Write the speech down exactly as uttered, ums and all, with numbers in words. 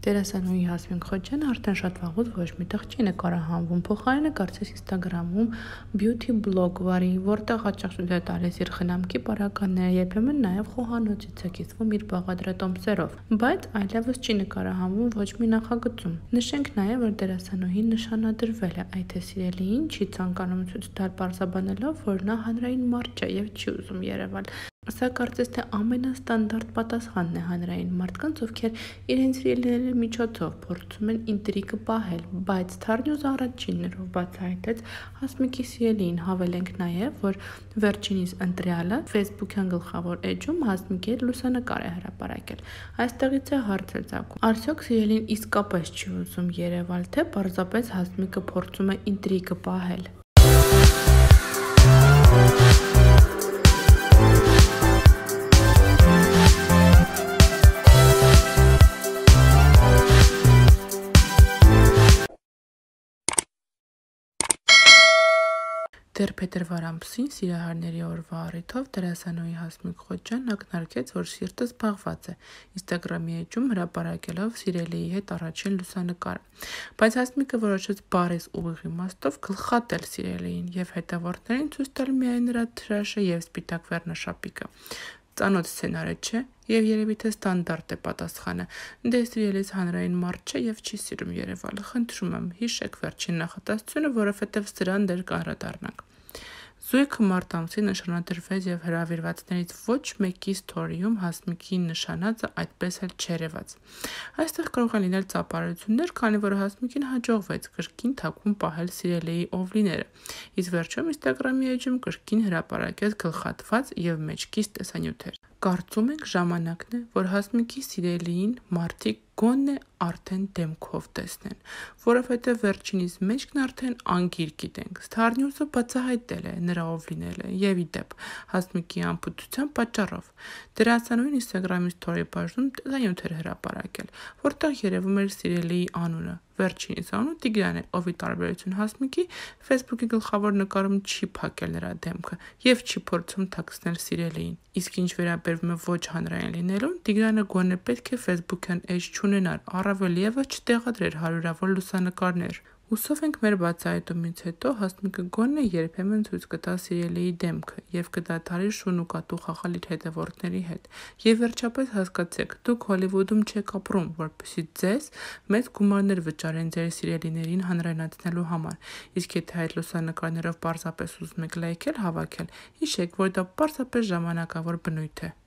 Դերասանուհի Հասմիկ Խոջյանը արդեն շատ վաղուց ոչ միտեղ չի նկարահանվում, փոխարենը կարծես Ինստագրամում բյութի բլոգ վարի, որտեղ հաճախ ցույց է տալիս իր խնամքի պարագաները, երբեմն նաև խոհանոցից է կիսվում իր բաղադրատոմսերով, բայց այլևս չի նկարահանվում ոչ մի նախագծում։ Նշենք նաև, որ դերասանուհին նշանադրվել է, այդ է սիրելիին չի ցանկանում ցույց տալ, պարզաբանելով, որ նա հանրային մարդ չէ և չի ուզում երևալ։ Սա կարծես թե ամենաստանդարտ պատասխանն է հանրային մարդկանց, ովքեր իրենց սիրելիների միջոցով փորձում են ինտրիգը պահել, բայց Թարնյուզը առաջիններով բացահայտեց Հասմիկի սիրելիին, հավելենք նաև, որ վերջինիս ընտրյալը ֆեյսբուքյան գլխավոր էջում Հասմիկի հետ լուսանկար է հրապարակել։ Այստեղից է հարցը ծագում. արդյոք սիրելին իսկապես չի ուզում երևալ, թե պարզապես Հասմիկը փորձում է ինտրիգը պահել։ Դեռ փետրվար ամսին Սիրահարների օրվա առիթով դերասանուհի Հասմիկ Խոջյանն ակնարկեց, որ սիրտը զբաղված է, Ինստագրամի էջում հրապարակելով սիրելիի հետ առաջին լուսանկարը։ Բայց Հասմիկը որոշեց բառից ուղիղ իմաստով գլխատել սիրելիին և հետևորդներին ցույց տալ միայն նրա թրաշը և սպիտակ վերնաշապիկը։ Ծանոթ սցենարը չէ, և երևի թե ստանդարտ է պատասխանը. դե սիրելիս հանրային մարդ չէ և չի սիրում երևալ, խնդրում եմ, հիշեք վերջին նախադասությունը, որովհետև սրան դեռ կանդրադառնանք։ Զույգը մարտ ամսին նշանադրվեց և հրավիրվածներից ոչ մեկի սթորիում Հասմիկի նշանածը այդպես էլ չերևաց։ Այստեղ կարող են լինել ծափարություններ, քանի որ Հասմիկին հաջողվեց կրկին թաքուն պահել սիրելիի ով լինելը, իսկ վերջում Ինստագրամի էջում կրկին հրապարակեց գլխատված և մեջքից տեսանյութեր։ Կարծում ենք ժամանակն է, որ Հասմիկի սիրելիին մարդիկ գոնե արդեն դեմքով տեսնեն, որովհետև վերջինիս մեջքն արդեն անգիր գիտենք։ Թարնյուզը բացահայտել է նրա ով լինելը և ի դեպ Հասմիկի անփութության պատճառով։ Դերասանուհին Ինստագրամի սթորի բաժնում տեսանյութ էր հրապարակել, որտեղ երևում էր սիրելիի անունը։ Վերջինիս անունը Տիգրան է, ով ի տարբերություն Հասմիկի ֆեյսբուքի գլխավոր նկարում չի փակել նրա դեմքը և չի փորձում թաքցնել սիրելիին։ Իսկ ինչ վերաբերում է ոչ հանրային լինելուն, Տիգրանը գոնե պետք է ֆեյսբուքյան էջ չունենար, առավել ևս չտեղադրեր հարյուրավոր լուսանկարներ։ Հուսով ենք մեր բացահայտումից հետո Հասմիկը գոնե երբեմն ցույց կտա սիրելիի դեմքը և կդադարի շուն ու կատու խաղալ իր հետևորդների հետ։ Եվ վերջապես հասկացեք, դուք Հոլիվուդում չեք ապրում, որպեսզի ձեզ մեծ գումարներ վճարեն ձեր սիրելիներին հանրայնացնելու համար, իսկ եթե այդ լուսանկարներով պարզապես ուզում եք լայքեր հավաքել, հիշեք, որ դա պարզապես ժամանակավոր բնույթ է։